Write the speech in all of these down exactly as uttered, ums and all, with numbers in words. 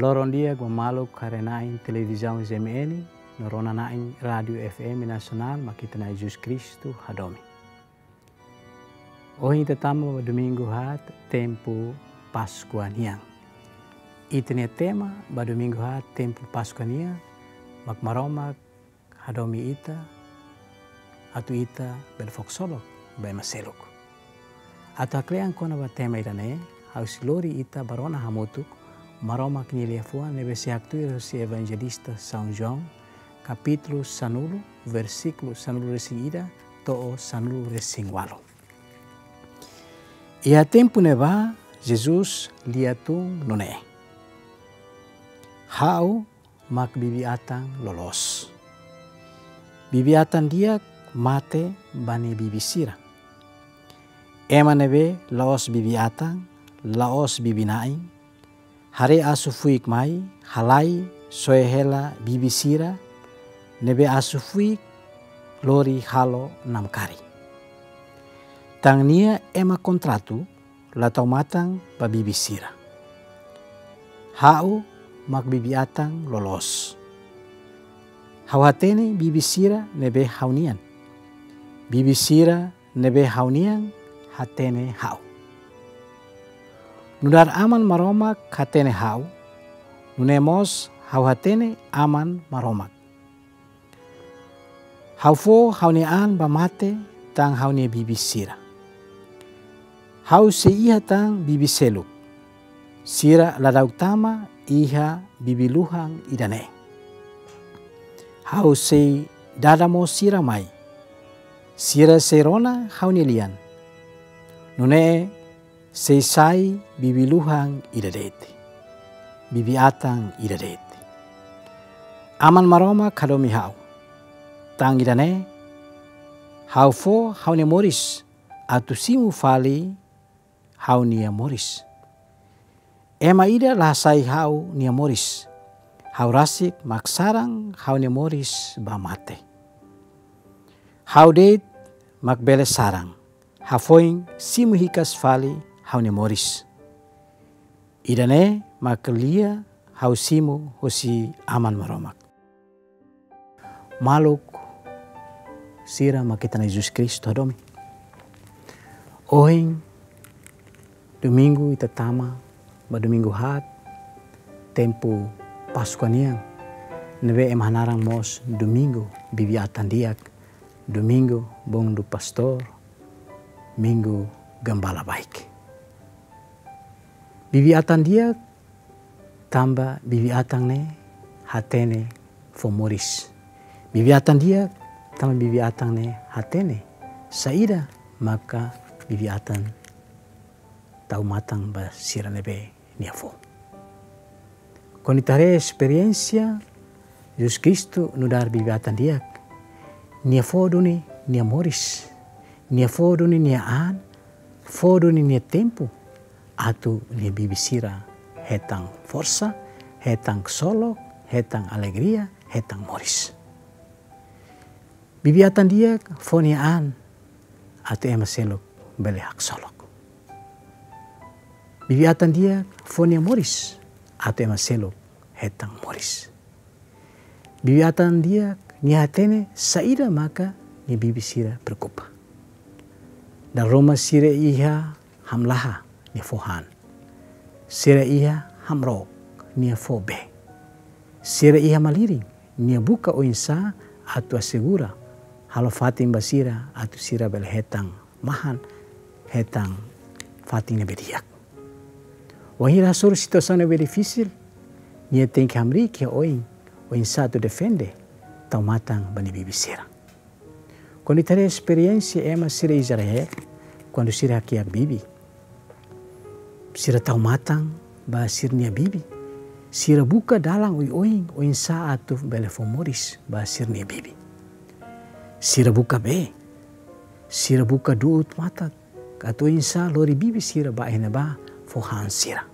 Loron di'ak ba maluk haree-na'in televizaun Z M N, no rona-na'in rádiu F M Nasionál Mak Ita-nia Jesus Kristu Hadomi. Ohin ita tama ba domingu haat tempu Páskua nian. Ita-nia tema ba domingu haat tempu Páskua nian, mak Maromak hadomi ita, atu ita bele fó ksolok ba ema seluk. Atu haklean kona-ba tema ida-ne'e, ha'u sei lori ita ba rona hamutuk Maromak nia liafuan ne'ebé sei haktuir husi Evanjelista São João, kapítulu sanulu, versíkulu sanulu-resin-ida to'o sanulu-resin-ualu. Iha tempu ne'ebá, Jesus lia tun nune'e: Ha'u mak bibi-atan loloos. Bibi-atan di'ak mate ba nia bibi sira. Ema ne'ebé la'ós bibi-atan, la'ós bibi-na'in, haree asu fuik mai, halai, soe hela bibi sira ne'ebé asu fuik lori halo namkari. Tan nia ema kontratu la tau matan ba bibi sira. Ha'u mak bibi-atan loloos. Ha'u hatene bibi sira ne'ebé ha'u-nian. Bibi sira ne'ebé ha'u-nian hatene ha'u. Nu'udar Aman Maromak hatene ha'u, nune'e mós ha'u hatene Aman Maromak. Ha'u fó ha'u-nia an ba mate tan ha'u-nia bibi sira. Ha'u sei iha tan bibi seluk. Sira ladauk tama iha bibi-luhan ida-ne'e. Ha'u sei dada mós sira mai. Sira sei rona ha'u-nia lian. Nune'e sei sai bibi-luhan ida de'it, bibi-atan ida de'it. Aman Maromak hadomi ha'u. Tan ida-ne'e, ha'u fó ha'u-nia moris atu simu fali ha'u-nia moris. Ema ida la hasai ha'u-nia moris. Ha'u rasik mak saran ha'u-nia moris ba mate. Ha'u de'it mak bele saran, hafoin simu hikas fali ha'u-nia moris. Ida-ne'e mak lia ha'u simu husi Aman Maromak. Maluk sira mak Ita-nia Jesus Kristu hadomi. Ohin domingu ita tama ba domingu haat tempu Páskua nian, ne'ebé ema hanaran mós domingu bibi-atan di'ak, domingu bom do pastor, minggu gembala baik. Bibi-atan di'ak tanba bibi-atan ne'e hatene fó moris. Bibi-atan di'ak tanba bibi-atan ne'e hatene saida maka bibi-atan tau matan ba sira ne'ebé nia fó. Kuandu ita haree esperiénsia Jesus Kristu nu'udar bibi-atan di'ak, nia fó duni nia moris, nia fó duni nia an, fó duni nia tempu, atu nia bibi sira hetan forsa, hetan ksolok, hetan alegria, hetan moris. Bibi-atan di'ak fó nia an atu ema seluk bele haksolok. Bibi-atan di'ak fó nia moris atu ema seluk hetan moris. Bibi-atan di'ak nia hatene saida maka nia bibi sira preokupa. Dala ruma sira iha hamlaha, nia fó han. Sira iha hamrook, nia fó bee. Sira iha malirin, nia buka oinsá atu asegura, halo fatin ba sira atu sira bele hetan mahan, hetan fatin ne'ebé di'ak. Wainhira hasoru situasaun ne'ebé difisil, nia tenke hamriik iha oin, oinsá atu defende, tau matan ba nia bibi sira. Kuandu ita haree esperiénsia ema sira Israel, kuandu sira hakiak bibi, sira tau matan ba sira-nia bibi. Sira buka dalan oioin, oinsá atu bele fó moris ba sira-nia bibi. Sira buka bee, sira buka du'ut matak, atu oinsá lori bibi sira ba iha ne'ebá fó han sira.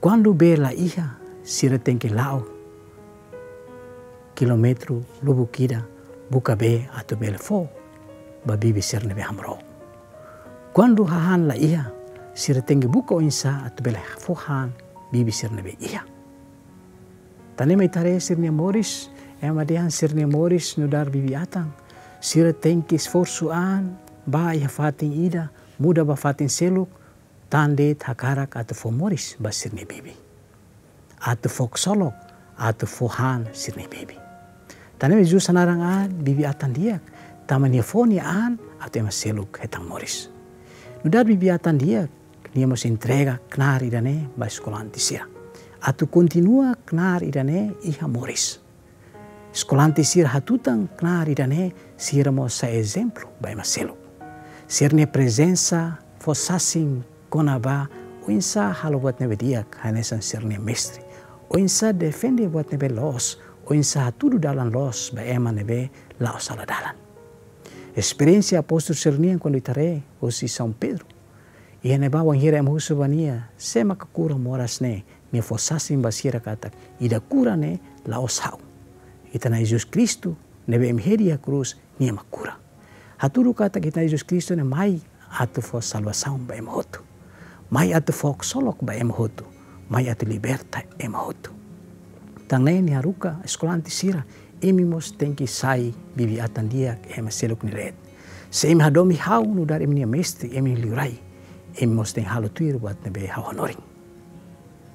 Kuandu bee la iha, sira tenke la'o kilómetru lubuk ida buka bee atu bele fó ba bibi sira ne'ebé hamrook. Kuandu hahán la iha, sira tenke buka oinsá atu bele fó han bibi sira ne'ebé iha. Tan ne'e mak ita haree sira-nia moris, ema dehan sira-nia moris nu'udar bibi-atan. Sira tenke esforsu an, bá iha fatin ida, muda ba fatin seluk, tan de'it hakarak atu fó moris ba sira-nia bibi. Atu fó ksolok, atu fó han sira-nia bibi. Tan ne'e mak Jesus hanaran an bibi-atan di'ak, tanba nia fó nia an atu ema seluk hetan moris. Nu'udar bibi-atan di'ak, nia mós entrega knaar ida-ne'e ba eskolante sira. Atu kontinua knaar ida-ne'e iha moris. Eskolante sira hatutan knaar ida-ne'e, sira mós sai ezemplu ba ema seluk. Sira-nia prezensa fó sasin kona-ba oinsá halo buat ne'ebé di'ak hanesan sira-nia mestre, oinsá defende buat ne'ebé loos, oinsá hatudu dalan loos ba ema ne'ebé la'o sala dalan. Esperiénsia apóstolu sira-nian kuandu ita haree husi São Pedro. Iha ne'ebá wainhira ema husu ba nia, sé maka kura moras ne'e, nia fó sasin ba sira katak, ida kura ne'e la'ós ha'u. Ita-nia Na'i Jesus Kristu, ne'ebé ema hedi iha krús, nia mak kura. Hatudu katak ita-nia Na'i Jesus Kristu ne'e mai atu fó salvasaun ba ema hotu. Mai atu fó ksolok ba ema hotu. Mai atu liberta ema hotu. Tan ne'e nia haruka eskolante sira, imi mós tenke sai bibi-atan di'ak iha ema seluk nia leet. Se imi hadomi ha'u nu'udar imi-nia mestre, imi-nia liurai, imi mós tenke halo tuir buat ne'ebé ha'u hanorin.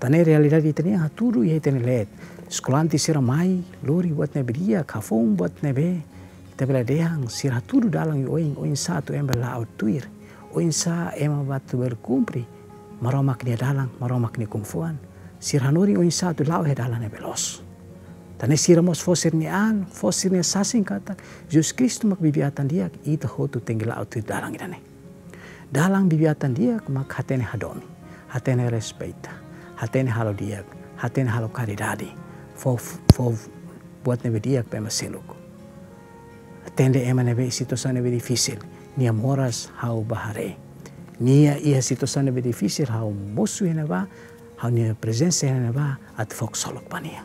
Tan ne'e realidade ita-nian hatudu iha ita-nia leet. Eskolante sira mai, lori buat ne'ebé di'ak, hafoun buat ne'ebé ita bele dehan, sira hatudu dalan oioin, oinsá atu ema bele la'o tuir, oinsá ema atu bele kumpre Maromak nia dalan, Maromak nia kungfuan. Sira hanorin oinsá atu la'o iha dalan ne'ebé loos. Tan ne'e sira mós fó sira-nia an, fó sira-nia sasin katak, Jesus Kristu mak bibi-atan di'ak, ita hotu tenke la'o tuir dalan ida-ne'e. Dalan bibi-atan di'ak mak hatene hadomi, hatene respeita, hatene halo di'ak, hatene halo karidade, fó, fó buat ne'ebé di'ak ba ema seluk. Atende ema ne'ebé situasaun ne'ebé difisil, nia moras ha'u bá haree. Nia iha situasaun ne'ebé difisil, ha'u mosu iha ne'ebá, ha'u-nia prezensa iha ne'ebá, atu fó ksolok ba nia.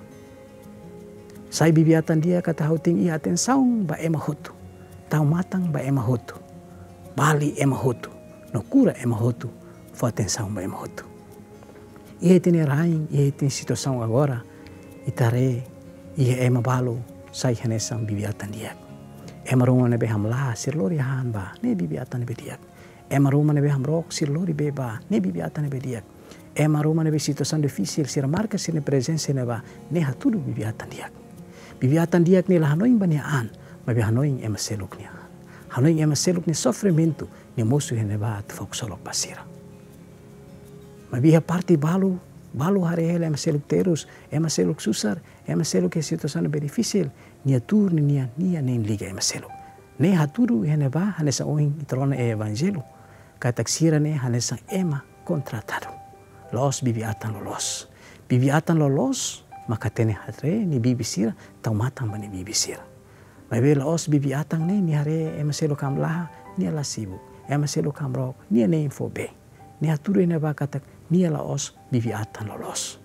Sai bibi-atan di'ak katak ha'u tenke iha atensaun ba ema hotu. Tau matan ba ema hotu. Bali ema hotu. No kura ema hotu. Fó atensaun ba ema hotu. Iha ita-nia rain, iha ita-nia situasaun agora, ita haree, iha ema balu sai hanesan bibi-atan di'ak. Ema ruma ne'ebé hamlaha, sira lori han bá, ne'e bibi-atan ne'ebé di'ak. Ema ruma ne'ebé hamrook, sira lori bee bá, ne'e bibi-atan ne'ebé di'ak. Ema ruma ne'ebé situasaun difisil, sira marka sira-nia prezensa iha ne'ebá, ne'e hatudu bibi-atan di'ak. Bibi-atan di'ak ne'e la hanoin ba nia an, maibé hanoin ema seluk nia an. Hanoin ema seluk nia sofrimentu, nia mosu iha ne'ebá atu fó ksolok ba sira. Maibé iha parte balu, balu haree hela ema seluk terus, ema seluk susar, ema seluk iha situasaun ne'ebé difisil, nia tuur ninia, nia nein liga ema seluk. Ne'e hatudu iha ne'ebá hanesan ohin ita rona iha Evanjellu, katak sira ne'e hanesan ema kontratadu. La'ós bibi-atan loloos. Bibi-atan loloos mak hatene haree nia bibi sira, tau matan ba nia bibi sira. Maibé la'ós bibi-atan ne'e, nia haree ema seluk hamlaha, nia la sibuk. Ema seluk hamrook, nia nein fó bee. Nia hatudu iha ne'ebá katak nia la'ós bibi-atan loloos.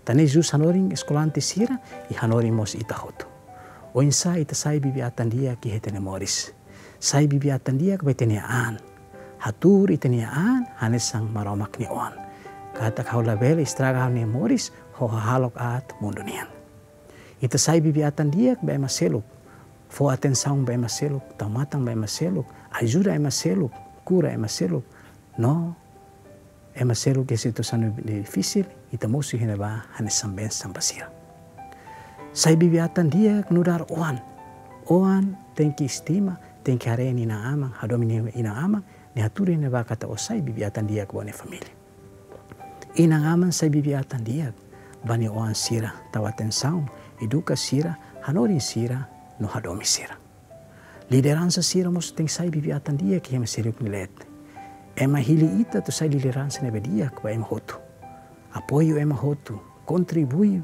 Tan ne'e Jesus hanorin eskolante sira, i hanorin mós ita hotu. Oinsá ita sai bibi-atan di'ak iha ita-nia moris. Sai bibi-atan di'ak ba ita-nia an. Hatuur ita-nia an hanesan Maromak nia oan. Katak ha'u labele estraga ha'u-nia moris ho hahalok aat mundu nian. Ita sai bibi-atan di'ak ba ema seluk. Fó atensaun ba ema seluk, tau matan ba ema seluk, ajuda ema seluk, kura ema seluk. No ema seluk iha situasaun difisil, ita mosu iha ne'ebá hanesan bensaun ba sira. Sai bibi-atan di'ak nu'udar oan. Oan tenke estima, tenke haree nia inan-aman, hadomi nia inan-aman, ne'e hatudu iha ne'ebá katak ó sai bibi-atan di'ak ba ó-nia família. Inan-aman sai bibi-atan di'ak ba nia oan sira, tau atensaun, eduka sira, hanorin sira, no hadomi sira. Lideransa sira mós tenke sai bibi-atan di'ak iha ema seluk nia leet. Ema hili ita atu sai lideransa ne'ebé di'ak ba ema hotu. Apoiu ema hotu, kontribui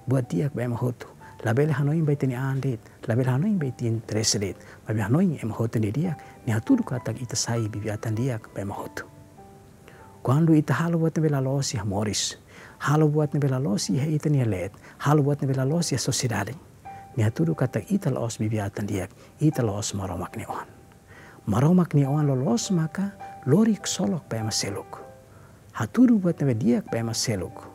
buat di'ak ba ema hotu. Labele hanoin ba ita-nia an de'it, labele hanoin ba ita-nia interese de'it, maibé hanoin ema hotu nia di'ak, ne'e hatudu katak ita sai bibi-atan di'ak ba ema hotu. Kuandu ita halo buat ne'ebé la loos iha moris, halo buat ne'ebé la loos iha ita-nia leet, halo buat ne'ebé la loos iha sosiedade, ne'e hatudu katak ita la'ós bibi-atan di'ak, ita la'ós Maromak nia oan. Maromak nia oan loloos maka lori ksolok ba ema seluk. Hatudu buat ne'ebé di'ak ba ema seluk.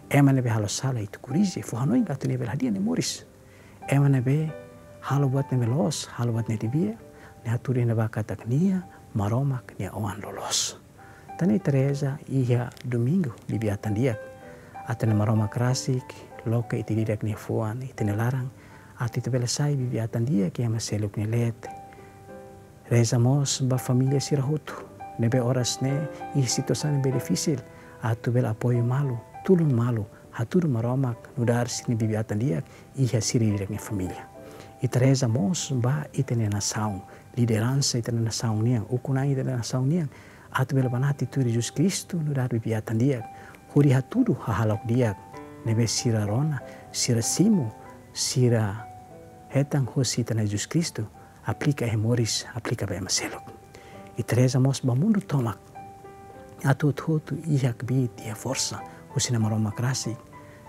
Ema ne'ebé halo sala ita korrije, fó hanoin atu nia bele hadi'a nia moris. Ema ne'ebé halo buat ne'ebé loos, halo buat ne'ebé di'ak, nia hatudu iha ne'ebá katak nia Maromak nia oan loloos. Tan ne'e ita reza iha Domingu bibi-atan di'ak, atu nu'udar Maromak rasik loke ita ida-idak nia fuan, ita-nia laran, atu ita bele sai bibi-atan di'ak iha ema seluk nia leet. Reza mós ba família sira hotu ne'ebé oras ne'e iha situasaun ne'ebé difisil, atu bele apoiu malu, tulun malu, hatudu Maromak nu'udar sira-nia bibi-atan di'ak iha sira ida-idak nia família. Ita reza mós ba ita-nia nasaun, lideransa ita-nia nasaun nian, ukun-na'in ita-nia nasaun nian, atu bele banati tuir Jesus Kristu nu'udar bibi-atan di'ak, hodi hatudu hahalok di'ak ne'ebé sira rona, sira simu, sira hetan hosi ita-nia Jesus Kristu, aplika iha moris, aplika ba ema seluk. Ita reza mós ba mundu tomak, atu hotu-hotu iha kbiit, iha forsa husi Na'i Maromak rasik,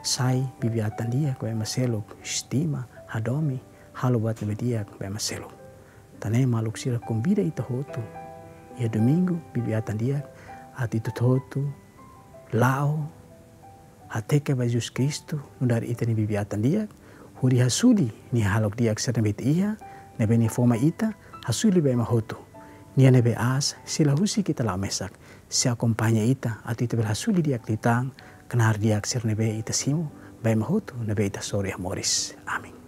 sai bibi-atan di'ak ba ema seluk, estima, hadomi, halo buat ne'ebé di'ak ba ema seluk. Tan ne'e maluk sira, konvida ita hotu iha Domingu bibi-atan di'ak, atu ita hotu-hotu la'o hateke ba Jesus Kristu nu'udar ita-nia bibi-atan di'ak, hodi hasuli nia hahalok di'ak sira ne'ebé ita iha, ne'ebé nia fó mai ita, hasuli ba ema hotu. Nia ne'ebé aas, sei la husik ita la'o mesak, sei akompaña ita atu ita bele hasuli di'ak liután knaar di'ak sira ne'ebé ita simu ba ema hotu ne'ebé ita hasoru iha moris. Amen.